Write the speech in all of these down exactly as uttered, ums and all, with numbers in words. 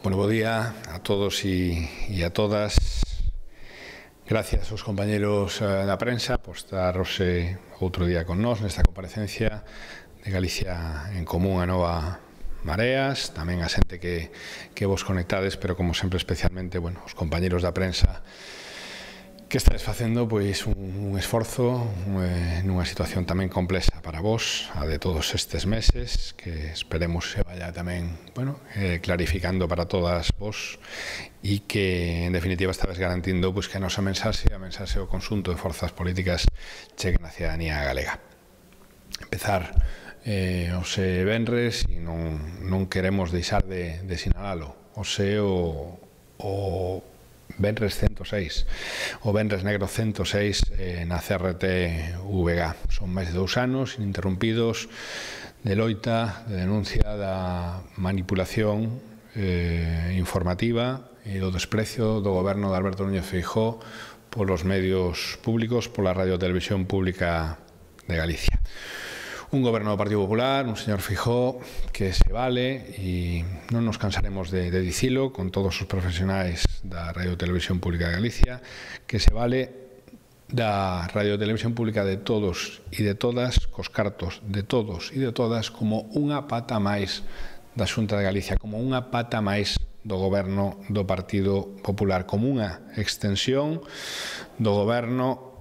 Bueno, bo día a todos e, e a todas. Gracias aos compañeros da prensa por estar hoxe outro día con nós nesta comparecencia de Galicia en Común a Nova Mareas, tamén a xente que, que vos conectades, pero como sempre especialmente, bueno, os compañeros da prensa que estáis facendo pois un, un esforzo eh, nunha situación tamén complexa para vos, a de todos estes meses, que esperemos se vaya tamén, bueno, eh, clarificando para todas vos e que, en definitiva, estabes garantindo pois, que a nosa mensaxe, a mensaxe do conxunto de forzas políticas cheguen á cidadanía galega. Empezar eh, ose venres e non, non queremos deixar de, de sinalalo. Ose o, o venres ciento seis, o venres negro ciento seis eh, na C R T V G. Son máis de dous anos ininterrumpidos de loita, de denuncia da manipulación eh, informativa e do desprecio do goberno de Alberto Núñez Feijóo polos medios públicos, pola Radio e Televisión Pública de Galicia. Un goberno do Partido Popular, un señor Feijóo que se vale, e non nos cansaremos de, de dicilo con todos os profesionais da Radio e Televisión Pública de Galicia, que se vale da Radio e Televisión Pública de todos e de todas, cos cartos de todos e de todas, como unha pata máis da Xunta de Galicia, como unha pata máis do goberno do Partido Popular, como unha extensión do goberno,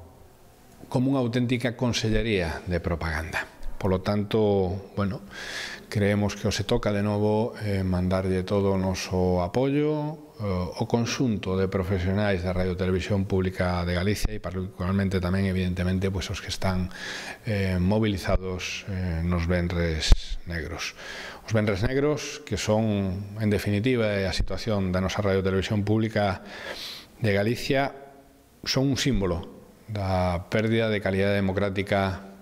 como unha auténtica consellería de propaganda. Polo tanto, bueno, creemos que os se toca de novo eh, mandarlle todo o noso apoio eh, o conxunto de profesionais da Radio e Televisión Pública de Galicia e particularmente tamén, evidentemente, pues, os que están eh, movilizados eh, nos venres negros. Os venres negros, que son, en definitiva, a situación da nosa Radio e Televisión Pública de Galicia, son un símbolo da pérdida de calidade democrática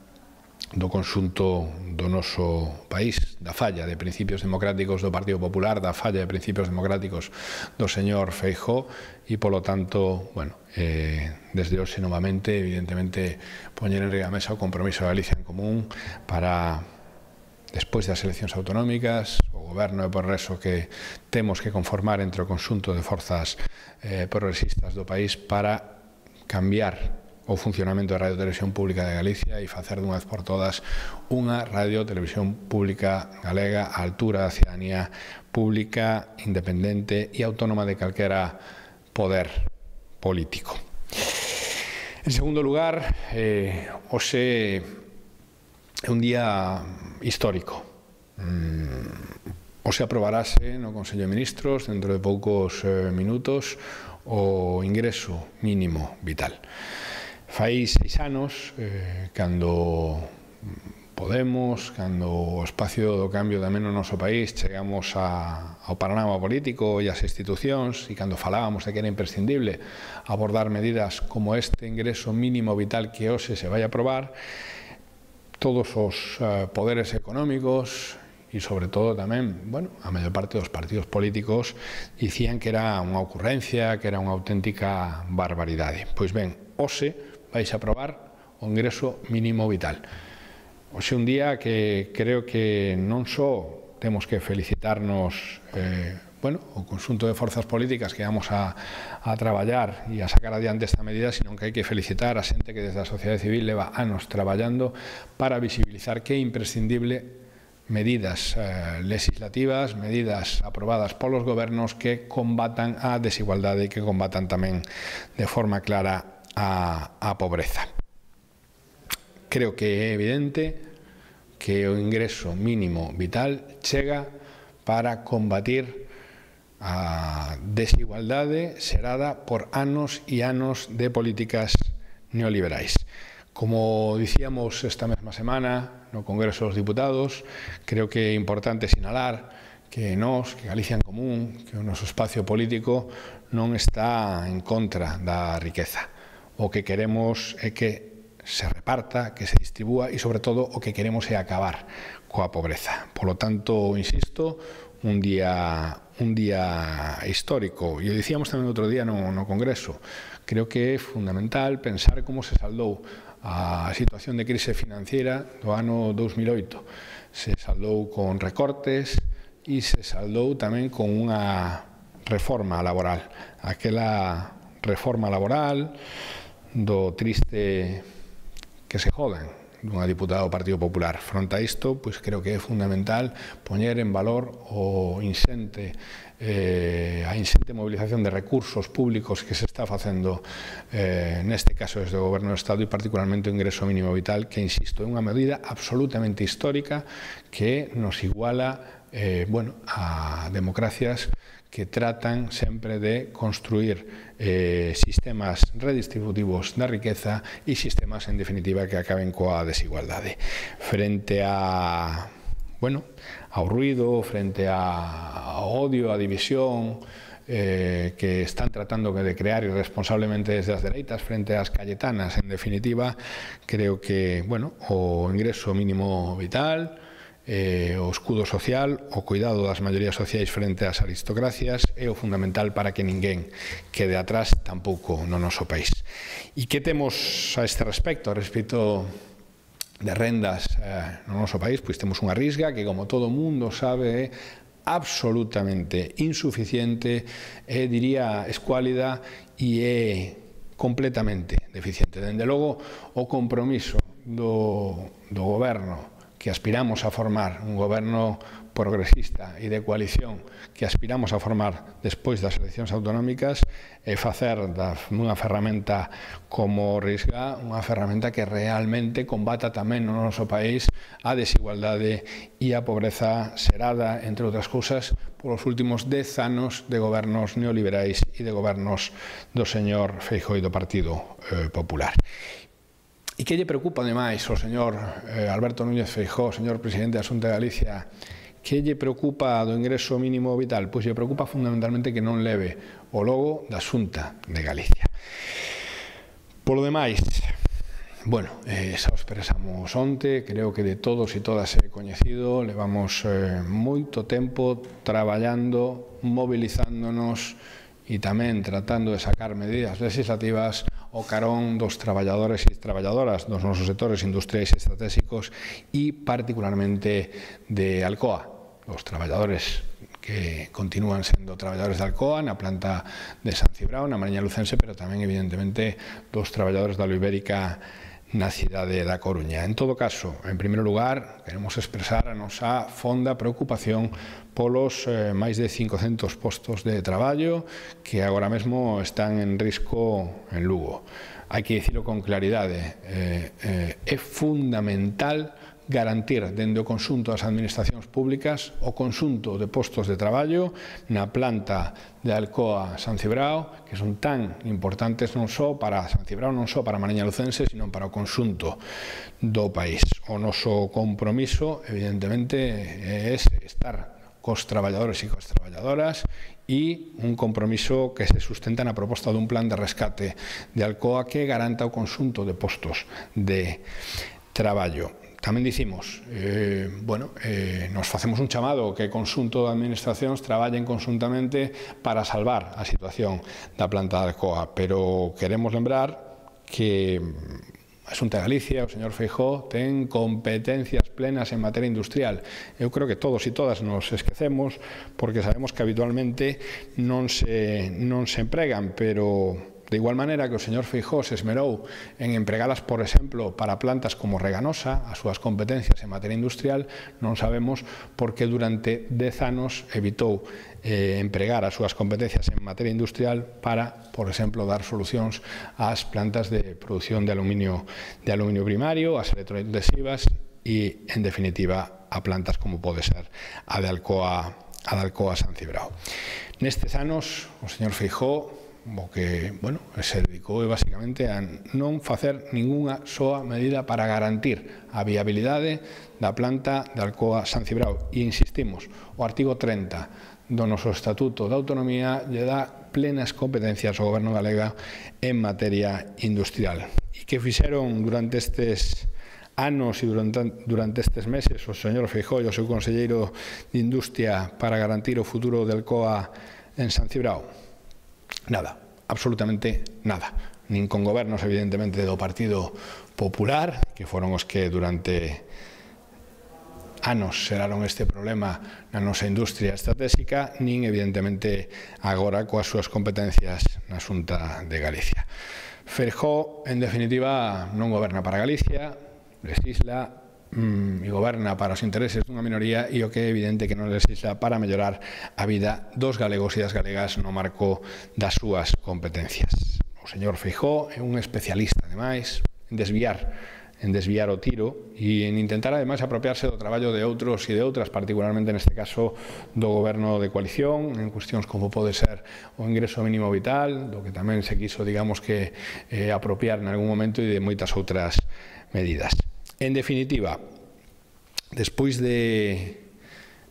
do conxunto do noso país, da falla de principios democráticos do Partido Popular, da falla de principios democráticos do señor Feijóo e, polo tanto, bueno, eh, desde hoxe novamente, evidentemente, poñer en riba a mesa o compromiso de Galicia en Común para, despois das eleccións autonómicas, o goberno de progreso que temos que conformar entre o conxunto de forzas eh, progresistas do país para cambiar o funcionamento da Radio e Televisión Pública de Galicia e facer dunha vez por todas unha Radio e Televisión Pública galega á altura da cidadanía pública, independente e autónoma de calquera poder político. En segundo lugar, eh, hoxe é un día histórico. Mm, hoxe aprobarase no Consello de Ministros, dentro de poucos eh, minutos, o ingreso mínimo vital. Fai seis anos, eh, cando Podemos, cando o espacio do cambio tamén no noso país chegamos a, ao panorama político e ás institucións, e cando falábamos de que era imprescindible abordar medidas como este ingreso mínimo vital que hoxe se vai a aprobar, todos os uh, poderes económicos e, sobre todo, tamén, bueno, a maior parte dos partidos políticos dicían que era unha ocurrencia, que era unha auténtica barbaridade. Pois ben, hoxe vais a aprobar o ingreso mínimo vital. Hoxe un día que creo que non só temos que felicitarnos eh, bueno, o conxunto de forzas políticas que vamos a, a traballar e a sacar adiante esta medida, sino que hai que felicitar a xente que desde a sociedade civil leva anos traballando para visibilizar que é imprescindible medidas eh, legislativas, medidas aprobadas polos gobernos que combatan a desigualdade e que combatan tamén de forma clara A, a pobreza. Creo que é evidente que o ingreso mínimo vital chega para combatir a desigualdade xerada por anos e anos de políticas neoliberais. Como dicíamos esta mesma semana no Congreso dos Diputados, creo que é importante sinalar que nós, que Galicia en Común, que o noso espacio político non está en contra da riqueza. O que queremos é que se reparta, que se distribúa e, sobre todo, o que queremos é acabar coa pobreza. Polo tanto, insisto, un día, un día histórico. E o dicíamos tamén outro día no, no Congreso. Creo que é fundamental pensar como se saldou a situación de crise financiera do ano dous mil oito. Se saldou con recortes e se saldou tamén con unha reforma laboral. Aquela reforma laboral do triste que se jodan dunha diputada do Partido Popular. Fronte a isto, pois creo que é fundamental poñer en valor o insente, eh, a insente movilización de recursos públicos que se está facendo eh, neste caso desde o Goberno do Estado e particularmente o ingreso mínimo vital, que, insisto, é unha medida absolutamente histórica que nos iguala eh, bueno, a democracias que tratan sempre de construir eh, sistemas redistributivos da riqueza e sistemas, en definitiva, que acaben coa desigualdade. Frente a, bueno, ao ruido, frente a, ao odio, a división, eh, que están tratando de crear irresponsablemente desde as dereitas frente ás cayetanas, en definitiva, creo que, bueno, o ingreso mínimo vital, Eh, o escudo social, o cuidado das maiorías sociais frente ás aristocracias é o fundamental para que ninguén quede atrás tampouco no noso país. E que temos a este respecto? A respecto de rendas eh, no noso país, pois temos unha risga que, como todo mundo sabe, é absolutamente insuficiente, e diría escuálida, e é completamente deficiente. Dende logo, o compromiso do, do goberno que aspiramos a formar, un goberno progresista e de coalición que aspiramos a formar despois das eleccións autonómicas, é facer dunha ferramenta como o Risga unha ferramenta que realmente combata tamén no noso país a desigualdade e a pobreza xerada, entre outras cousas, polos últimos dez anos de gobernos neoliberais e de gobernos do señor Feijóo e do Partido eh, Popular. E que lle preocupa, ademais, ao señor eh, Alberto Núñez Feijóo, señor presidente da Xunta de Galicia, que lle preocupa do ingreso mínimo vital? Pois lle preocupa fundamentalmente que non leve o logo da Xunta de Galicia. Polo demais, bueno, eh, xa o expresamos onte, creo que de todos e todas é coñecido, levamos eh, moito tempo traballando, mobilizándonos e tamén tratando de sacar medidas legislativas o carón dos traballadores e traballadoras dos nosos sectores industriais e estratégicos e particularmente de Alcoa, os traballadores que continúan sendo traballadores de Alcoa na planta de San Cibrao, na Mariña Lucense, pero tamén evidentemente dos traballadores da Ibérica na cidade da Coruña. En todo caso, en primeiro lugar, queremos expresar a nosa fonda preocupación polos eh, máis de cincocentos postos de traballo que agora mesmo están en risco en Lugo. Hai que dicilo con claridade, eh, eh, é fundamental garantir dende o conxunto das administracións públicas o conxunto de postos de traballo na planta de Alcoa San Cibrao, que son tan importantes non só para San Cibrao, non só para Mariña Lucense, sino para o conxunto do país. O noso compromiso, evidentemente, é ese, estar cos traballadores e cos traballadoras, e un compromiso que se sustenta na proposta dun plan de rescate de Alcoa que garanta o conxunto de postos de traballo. Tamén dicimos, eh, bueno, eh, nos facemos un chamado que o conxunto de administracións traballen conxuntamente para salvar a situación da planta de Alcoa, pero queremos lembrar que a Xunta de Galicia, o señor Feijóo, ten competencias plenas en materia industrial. Eu creo que todos e todas nos esquecemos porque sabemos que habitualmente non se, non se empregan, pero de igual maneira que o señor Feijóo se esmerou en empregalas, por exemplo, para plantas como Reganosa, as súas competencias en materia industrial, non sabemos por que durante dez anos evitou eh, empregar as súas competencias en materia industrial para, por exemplo, dar solucións ás plantas de produción de aluminio, de aluminio primario, ás electrointensivas e, en definitiva, a plantas como pode ser a de Alcoa, a de Alcoa San Cibrao. Nestes anos, o señor Feijóo o que, bueno, se dedicou basicamente a non facer ningunha soa medida para garantir a viabilidade da planta de Alcoa San Cibrao. E insistimos, o artigo trinta do noso Estatuto de Autonomía lle dá plenas competencias ao Goberno galega en materia industrial. E que fixeron durante estes anos e durante, durante estes meses o señor Feijóo e o seu conselleiro de Industria para garantir o futuro de Alcoa en San Cibrao? Nada, absolutamente nada. Nin con gobernos, evidentemente, do Partido Popular, que foron os que durante anos xeraron este problema na nosa industria estratégica, nin evidentemente agora coas súas competencias na Xunta de Galicia. Feijóo, en definitiva, non goberna para Galicia, legisla mm, e goberna para os intereses dunha minoría e o que é evidente que non legisla para mellorar a vida dos galegos e das galegas no marco das súas competencias. O señor Feijóo é un especialista, ademais, en desviar en desviar o tiro e en intentar, ademais, apropiarse do traballo de outros e de outras, particularmente neste caso do goberno de coalición, en cuestións como pode ser o ingreso mínimo vital, do que tamén se quiso, digamos, que eh, apropiar en algún momento e de moitas outras medidas. En definitiva, despois de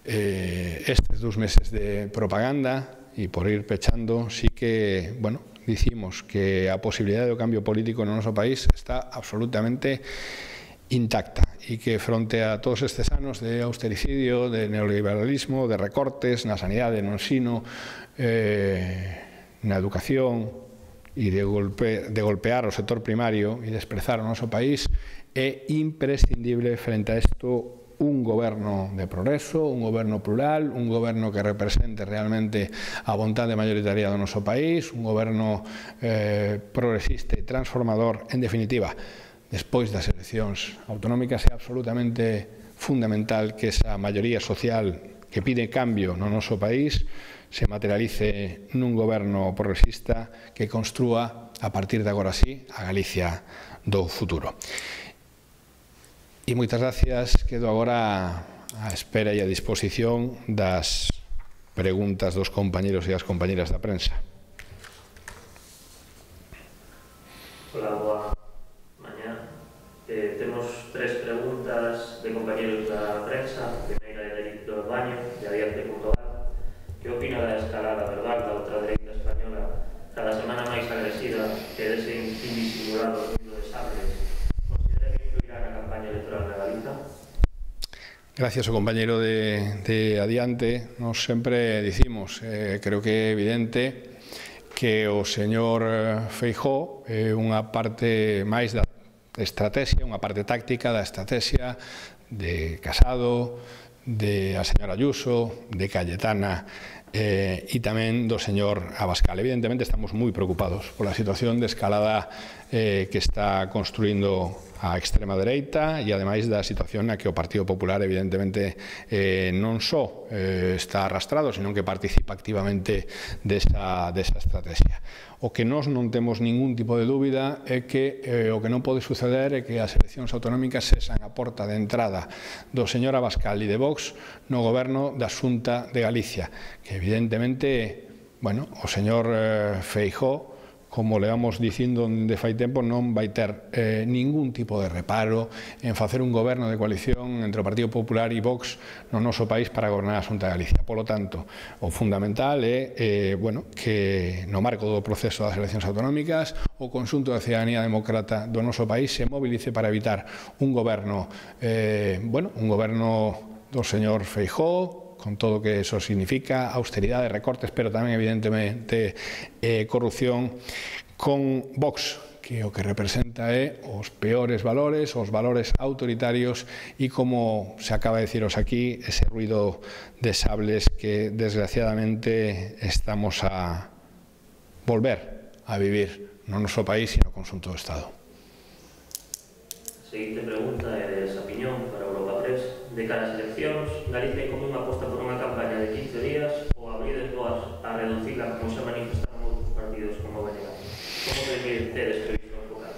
eh, estes dous meses de propaganda e por ir pechando, sí que, bueno, dicimos que a posibilidade do cambio político no noso país está absolutamente intacta e que fronte a todos estes anos de austericidio, de neoliberalismo, de recortes na sanidade, no ensino, eh, na educación e de, golpe, de golpear o sector primario e desprezar o noso país, é imprescindible frente a isto un goberno de progreso, un goberno plural, un goberno que represente realmente a vontade mayoritaria do noso país, un goberno eh, progresista e transformador. En definitiva, despois das eleccións autonómicas é absolutamente fundamental que esa maioría social que pide cambio no noso país se materialice nun goberno progresista que construa, a partir de agora sí, a Galicia do futuro. E moitas gracias, quedo agora á espera e a disposición das preguntas dos compañeros e das compañeras da prensa. Hola, boa mañá. Eh, temos tres preguntas de compañeros da prensa. A primeira é de Víctor Baño, de Adiante punto gal. Que opina da escalada verbal da ultradereita española cada semana máis agresiva que dese indisimulado ruido de sables? Gracias ao compañeiro de, de Adiante. Nos sempre dicimos, eh, creo que é evidente que o señor Feijóo é unha parte máis da estrategia, unha parte táctica da estrategia de Casado, de a señora Ayuso, de Cayetana eh, e tamén do señor Abascal. Evidentemente estamos moi preocupados pola situación de escalada eh, que está construindo a extrema dereita e ademais da situación na que o Partido Popular evidentemente eh, non só eh, está arrastrado, senón que participa activamente desa, desa estrategia. O que nós non temos ningún tipo de dúbida é que eh, o que non pode suceder é que as eleccións autonómicas sexan a porta de entrada do señor Abascal e de Vox no goberno da Xunta de Galicia, que evidentemente, bueno, o señor eh, Feijóo, como le vamos dicindo de fai tempo, non vai ter eh, ningún tipo de reparo en facer un goberno de coalición entre o Partido Popular e Vox no noso país para gobernar a Xunta de Galicia. Polo tanto, o fundamental é eh, bueno, que no marco do proceso das eleccións autonómicas o conxunto da cidadanía demócrata do noso país se movilice para evitar un goberno, eh, bueno, un goberno do señor Feijóo, con todo o que eso significa, austeridade, recortes, pero tamén, evidentemente, eh, corrupción, con Vox, que o que representa é os peores valores, os valores autoritarios e, como se acaba de deciros aquí, ese ruido de sables que, desgraciadamente, estamos a volver a vivir no noso país e no conxunto do Estado. A seguinte pregunta é de Sapiñón para Europa Press. De cara ás eleccións, Galicia en Común aposta por unha campaña de quince días ou abrides boas a reducila como se manifestaron outros partidos como o B N G. Como que tedes previsto enfocar?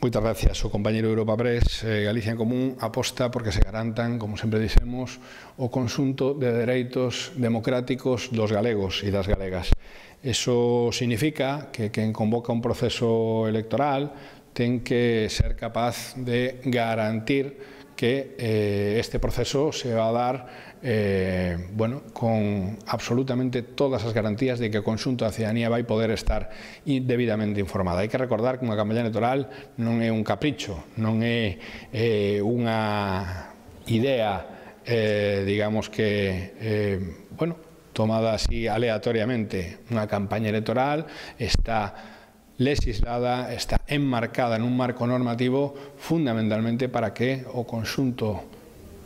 Moitas gracias. O compañeiro de Europa Press, eh, Galicia en Común aposta porque se garantan, como sempre dixemos, o conxunto de dereitos democráticos dos galegos e das galegas. Eso significa que quen convoca un proceso electoral ten que ser capaz de garantir que eh, este proceso se va a dar eh, bueno, con absolutamente todas as garantías de que o conxunto da cidadanía vai poder estar debidamente informada. Hai que recordar que unha campaña electoral non é un capricho, non é eh, unha idea, eh, digamos que, eh, bueno, tomada así aleatoriamente. Unha campaña electoral está legislada, está enmarcada nun marco normativo fundamentalmente para que o conxunto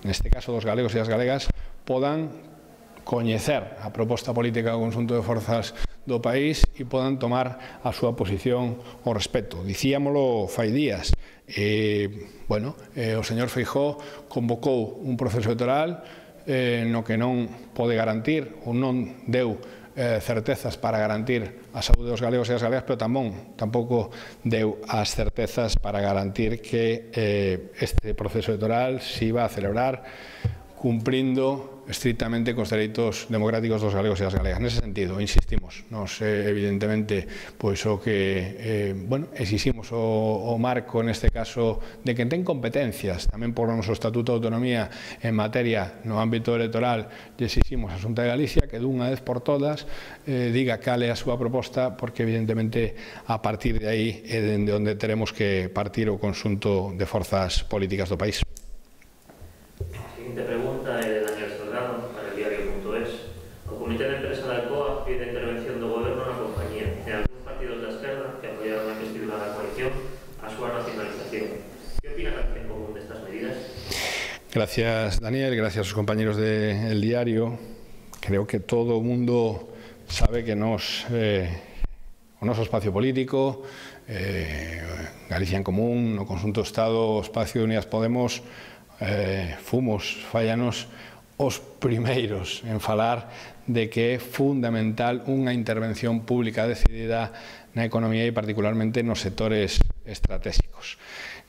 neste caso dos galegos e as galegas, podan coñecer a proposta política do conxunto de forzas do país e podan tomar a súa posición ao respecto. Dicíamolo fai días, eh, bueno, eh, o señor Feijóo convocou un proceso electoral eh, no que non pode garantir ou non deu eh, certezas para garantir a saúde dos galegos e as galegas, pero tamén, tampouco deu as certezas para garantir que eh, este proceso electoral se iba a celebrar cumprindo estrictamente cos dereitos democráticos dos galegos e das galegas. Nese sentido, insistimos, nos eh, evidentemente, pois o que, eh, bueno, exiximos o, o marco, neste caso, de quen ten competencias, tamén por o noso Estatuto de Autonomía en materia no ámbito electoral, e exiximos a Xunta de Galicia que dunha vez por todas eh, diga cal é a súa proposta, porque evidentemente a partir de aí é dende onde teremos que partir o conxunto de forzas políticas do país. A seguinte pregunta é de Daniel Salgado para el diario punto es. O Comité de Empresa da Alcoa pide intervención do Goberno na compañía e algúns partidos da esquerda que apoiaron a investidura da coalición a súa nacionalización. Que opina Galicia en común destas medidas? Gracias, Daniel, gracias aos compañeros de El Diario. Creo que todo o mundo sabe que nos, eh, o noso espacio político, eh, Galicia en Común, no conxunto do Estado, o espacio de Unidas Podemos, Eh, fomos, fallanos, os primeiros en falar de que é fundamental unha intervención pública decidida na economía e particularmente nos sectores estratégicos.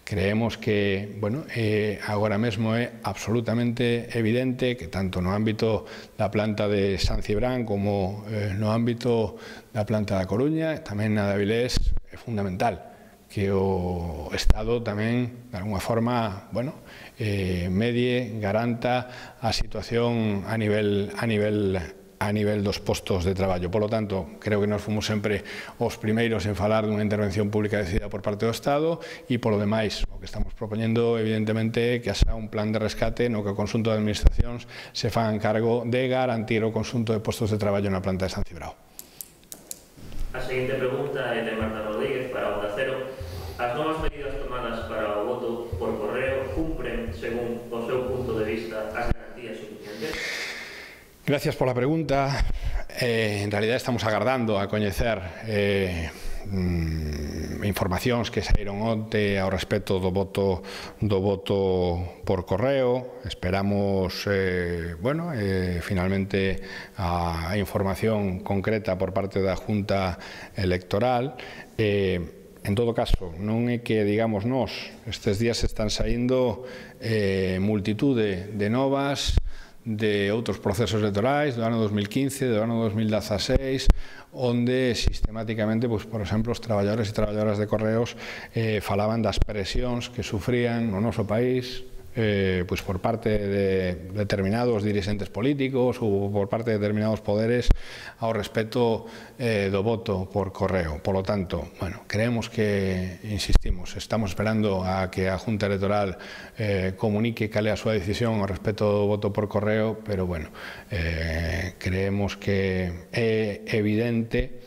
Creemos que, bueno, eh, agora mesmo é absolutamente evidente que tanto no ámbito da planta de San Cibrán como eh, no ámbito da planta da Coruña, tamén na de Avilés, é fundamental que o Estado tamén, de alguma forma, bueno, eh, medie, garanta a situación a nivel, a nivel, a nivel dos postos de traballo. Por lo tanto, creo que nos fomos sempre os primeiros en falar dunha intervención pública decidida por parte do Estado e, por lo demais, o que estamos propoñendo, evidentemente, que haxa un plan de rescate no que o conxunto de administracións se fagan cargo de garantir o conxunto de postos de traballo na planta de San Cibrao. A seguinte pregunta é de Marta Rodríguez para Onda Cero. As novas medidas tomadas para o voto por correo cumpren, según o seu punto de vista, as garantías suficientes? Gracias pola pregunta. Eh, en realidad estamos agardando a coñecer eh, mm, informacións que saíron onte ao respecto do voto do voto por correo. Esperamos, eh, bueno, eh, finalmente a, a información concreta por parte da Junta Electoral. Eh, En todo caso, non é que, digamos, nós, estes días están saindo eh, multitude de novas de outros procesos electorais do ano dos mil quince, do ano dos mil dieciséis, onde sistemáticamente, pois, por exemplo, os traballadores e traballadoras de correos eh, falaban das presións que sufrían no noso país, Eh, pues por parte de determinados dirigentes políticos ou por parte de determinados poderes ao respecto eh, do voto por correo. Por lo tanto, bueno, creemos que, insistimos, estamos esperando a que a Junta Electoral eh, comunique cal é a súa decisión ao respecto do voto por correo, pero, bueno, eh, creemos que é evidente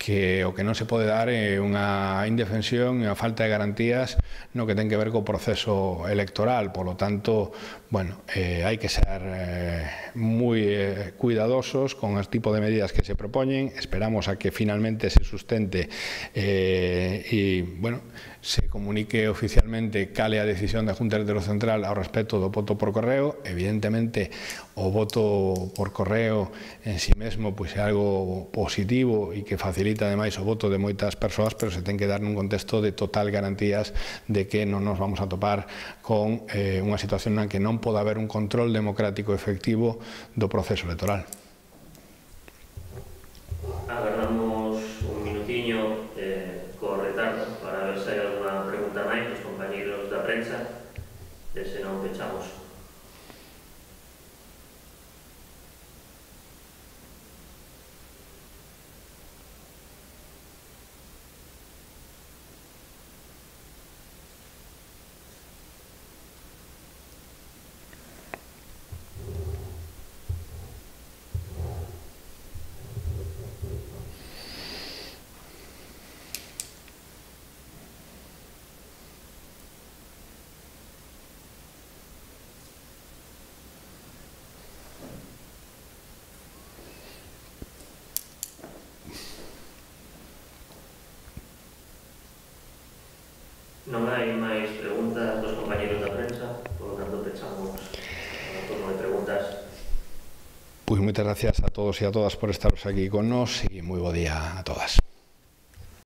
que o que non se pode dar é unha indefensión e unha falta de garantías no que ten que ver co proceso electoral. Por lo tanto, bueno, eh, hai que ser eh, moi eh, cuidadosos con o tipo de medidas que se propoñen. Esperamos a que finalmente se sustente eh, e, bueno, se comunique oficialmente cal é a decisión da Junta Electoral Central ao respecto do voto por correo. Evidentemente, o voto por correo en si mesmo pois é algo positivo e que facilita ademais o voto de moitas persoas, pero se ten que dar nun contexto de total garantías de que non nos vamos a topar con eh, unha situación na que non pode haber un control democrático efectivo do proceso electoral. Agardamos un minutiño eh, co retardo para ver se hai alguna pregunta máis dos compañeros da prensa, e se non pechamos. Non hai máis preguntas dos compañeros da prensa, por lo tanto pechamos o turno de preguntas. Pois moitas gracias a todos e a todas por estaros aquí con nós e moi bo día a todas.